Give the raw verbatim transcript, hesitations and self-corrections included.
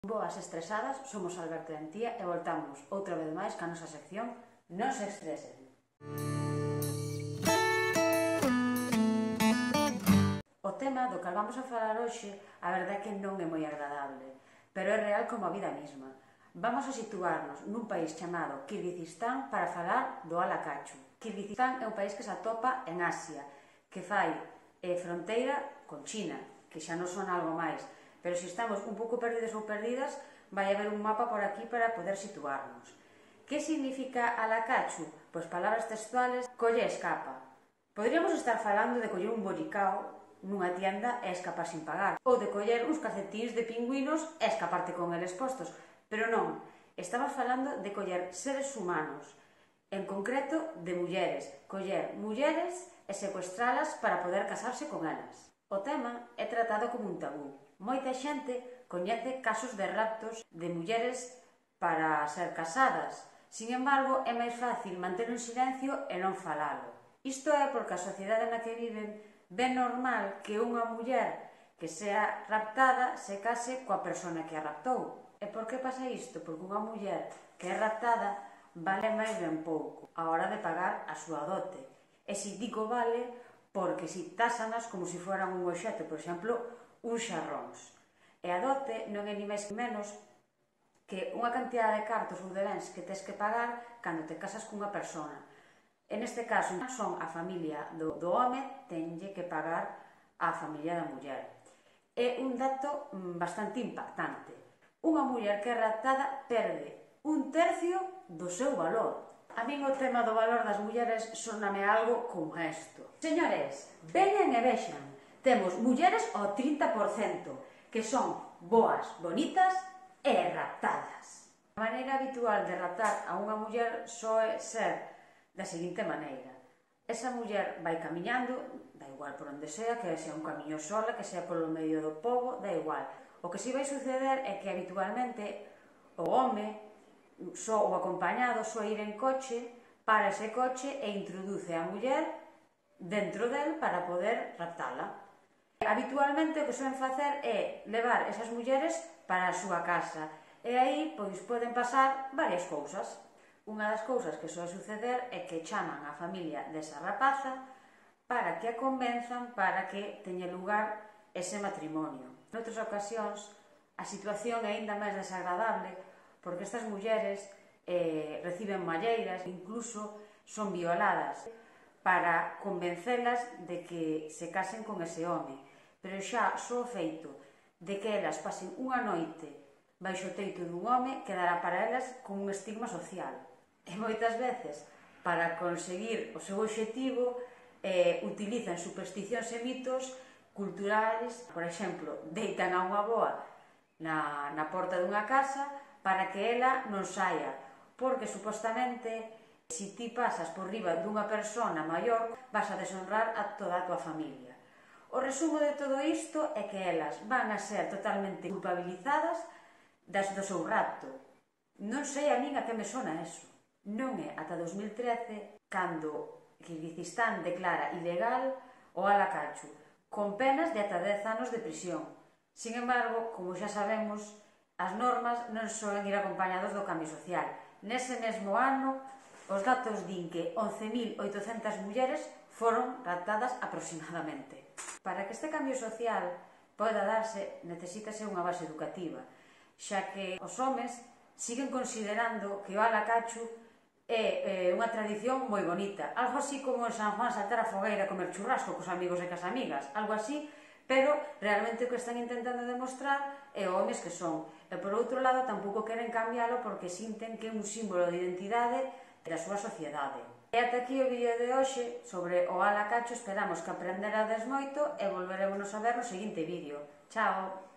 Boas estresadas, somos Alberto e Antía e voltamos outra vez máis ca nosa sección Non se estresen. O tema do que vamos a falar hoxe, a verdade é que non é moi agradable, pero é real como a vida mesma. Vamos a situarnos nun país chamado Kirguizistán para falar do Alacachu. Kirguizistán é un país que se atopa en Asia, que fai eh, fronteira con China, que xa non son algo máis, pero se estamos un pouco perdidos ou perdidas, vai haber un mapa por aquí para poder situarnos. Que significa Alacachu? Pois palabras textuales, colle e escapa. Podríamos estar falando de coller un bolicao nunha tienda e escapar sin pagar, ou de coller uns calcetíns de pingüinos e escaparte con eles postos, pero non, estamos falando de coller seres humanos, en concreto de mulleres, coller mulleres e secuestralas para poder casarse con elas. O tema é tratado como un tabú. Moita xente coñece casos de raptos de mulleres para ser casadas. Sin embargo, é máis fácil manter un silencio e non falalo. Isto é porque a sociedade na que viven ve normal que unha muller que sea raptada se case coa persona que a raptou. E por que pasa isto? Porque unha muller que é raptada vale máis ben pouco a hora de pagar a súa dote. E si digo vale, porque si tásanas como se foran un obxecto, por exemplo, uns xarróns. E a dote non é ni máis que menos que unha cantidade de cartos ou de bens que tes que pagar cando te casas cunha persona. En este caso, son a familia do, do home, tenlle que pagar a familia da muller. É un dato bastante impactante. Unha muller que é raptada perde un tercio do seu valor. A min o tema do valor das mulleres soname algo como isto. Señores, veñan e vexan. Temos mulleres ao trinta por cento, que son boas, bonitas e raptadas. A maneira habitual de raptar a unha muller soe ser da seguinte maneira. Esa muller vai camiñando, da igual por onde sea, que sea un camiño sola, que sea polo medio do pobo, da igual. O que si vai suceder é que habitualmente o home, só o acompañado, só ir en coche, para ese coche e introduce a muller dentro del para poder raptala. Habitualmente o que soen facer é levar esas mulleres para a súa casa e aí pois poden pasar varias cousas. Unha das cousas que soe suceder é que chaman a familia desa rapaza para que a convenzan para que teña lugar ese matrimonio. Noutras ocasións a situación é aínda máis desagradable porque estas mulleres eh, reciben malleiras, incluso son violadas para convencelas de que se casen con ese home. Pero xa só o feito de que elas pasen unha noite baixo o teito dun home quedará para elas como un estigma social. E moitas veces, para conseguir o seu obxectivo, eh, utilizan supersticións e mitos culturais. Por exemplo, deitan a unha boa na, na porta dunha casa para que ela non saia, porque supostamente se ti pasas por riba dunha persona maior vas a deshonrar a toda a tua familia. O resumo de todo isto é que elas van a ser totalmente culpabilizadas das do seu rapto. Non sei a min a que me sona eso. Non é ata dos mil trece cando Kirguizistán declara ilegal o Alacachu, con penas de ata dez anos de prisión. Sin embargo, como xa sabemos, as normas non soen ir acompañados do cambio social. Nese mesmo ano, os datos din que once mil oitocentas mulleres foron raptadas aproximadamente. Para que este cambio social poida darse, necesítase unha base educativa, xa que os homes siguen considerando que o Alacachu é unha tradición moi bonita, algo así como en San Juan saltar a fogueira e comer churrasco cos amigos e cas amigas, algo así, pero realmente o que están intentando demostrar é o homes que son. E por outro lado, tampouco queren cambiálo porque sinten que é un símbolo de identidade da súa sociedade. E ata aquí o vídeo de hoxe sobre o Alacachu. Esperamos que aprenderades moito e volveremos a ver no seguinte vídeo. Chao!